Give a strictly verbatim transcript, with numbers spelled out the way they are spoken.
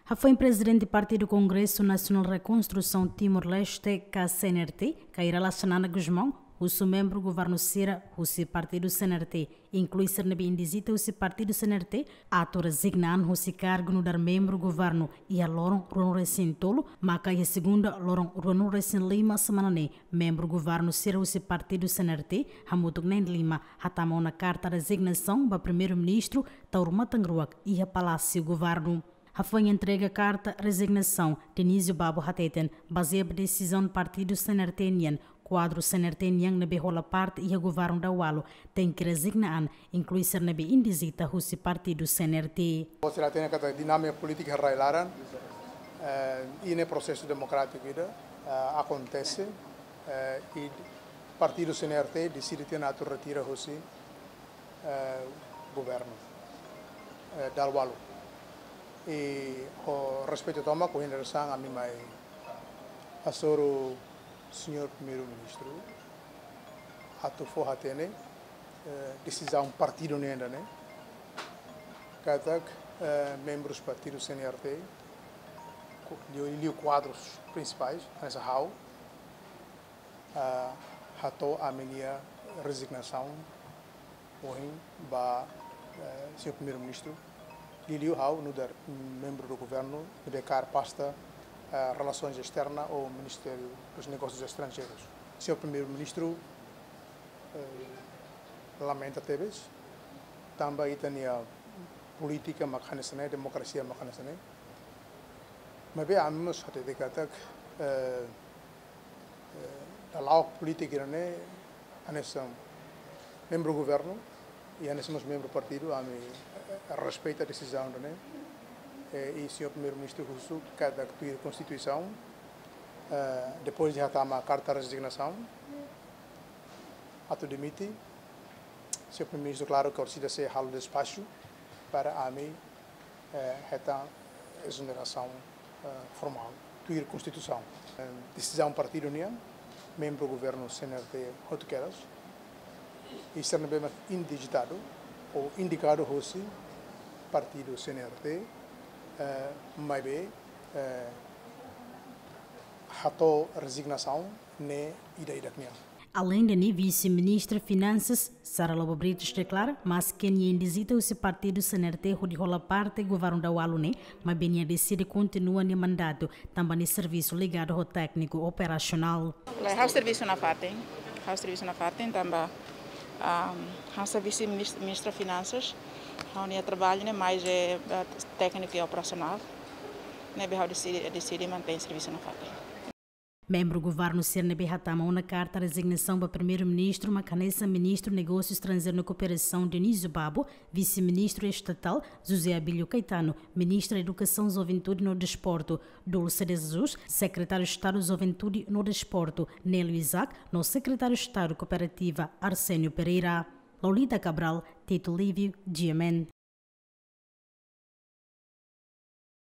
Hafoin Prezidente Partidu Kongresu Nasionál Rekonstrusaun Timor-Leste, ka C N R T, Kay Rala Xanana Gusmão, husu membru governu sira husi partidu C N R T, inklui sira ne'ebé indizita husi partidu C N R T, atu rezigna an husi kargu nu'udar membru governu iha loron ruanulu-resin-tolu, maka iha segunda loron ruanulu-resin-lima semana ne'e, membru governu sira husi partidu C N R T, hamutuk na'in-lima, hatama ona karta rezignasaun ba Primeiru-Ministru Taur Matan Ruak iha Palásiu Governu. Hafoin entrega karta rezignasaun, Dionísio Babo hateten, bazeia ba desizaun partidu C N R T nian, kuadru C N R T nian ne'ebé hola parte iha governu daualu tenke rezigna an, inklui sira ne'ebé indizita husi partidu C N R T. Sira hatene katak dinámika polítika iha rai laran, eh, i ne'e prosesu demokrátiku ida, eh, akontese, eh, i partidu C N R T deside tiha ona atu retira husi, eh, governu, eh, daualu. I ho respeitu tomak, ho hindar san ami mai hasoru Señór Primeiru-Ministru atu fó hatene, eh, desizaun partidu nian ida-ne'e, katak, eh, membrus partidu C N R T, ku-, liu, liu kuadrus prinsipais, hanesan ha'u, ah, hato'o ami-nia rezignasaun ohin ba, eh, Señór Primeiru-Ministru, liuliu ha'u nu'udar membru do governu ne'ebé kaer pasta, eh, Relações Externas ou Ministério dos Negócios Estrangeiros. Señór Primeiru-Ministru, eh, lamenta tebes, tanba ita-nia polítika mak hanesan ne'e, demokrasia mak hanesan ne'e. Maibé ami mós hatete katak, eh, eh, dala ruma polítika ne'e, hanesan membru governu, i hanesan mós membru partidu, ami, eh, respeita desizaun ne'e. Eh, i Señór Primeiru-Ministru husu katak tuir Konstituisaun, eh, depois de hatama karta rezignasaun, atu dimite, Señór Primeiru-Ministru, klaru ke orsida sei halo despaxu para ami, eh, hetan ezonerasaun, eh, formál, tuir Konstituisaun. Eh, desizaun partidu nian, membru governu C N R T hotu kedas, i sira ne'ebé mak indizitadu ou indikadu hosi partidu C N R T, eh, maibé, eh, hato'o rezignasaun ne'e ida-idak nian. Aleinde ne'e, Vise-Ministra Finansas, Sara Lobo Brites, deklara, maske nia indizita husi partidu C N R T hodi hola parte governu daualu ne'e, maibé nia deside kontinua nia mandatu, tanba nia servisu ligadu ho tékniku operasionál. Lae, ha'u servisu nafatin, ha'u servisu nafatin, tanba, ah, ha'u servisu minis-, Ministra Finansas, ha'u-nia traballu ne'e mais, eh, eh, tékniku i operasionál, ne'ebé ha'u deside, deside mantein servisu nafatin. Membru governu sira ne'ebé hatama ona karta rezignasaun ba Primeiru-Ministru mak hanesan Ministru Negósiu Estranjeiru no Kooperasaun, Dionísio Babo, Vise-Ministru Estatál José Abílio Caetano, Ministra Edukasaun, Juventude no Desportu Dulce de Jesus, Sekretáriu Estadu Juventude no Desportu Nélio Isaac, no Sekretáriu Estadu Kooperativa Arsénio Pereira. Lolita Cabral, Tito Lívio, G M N.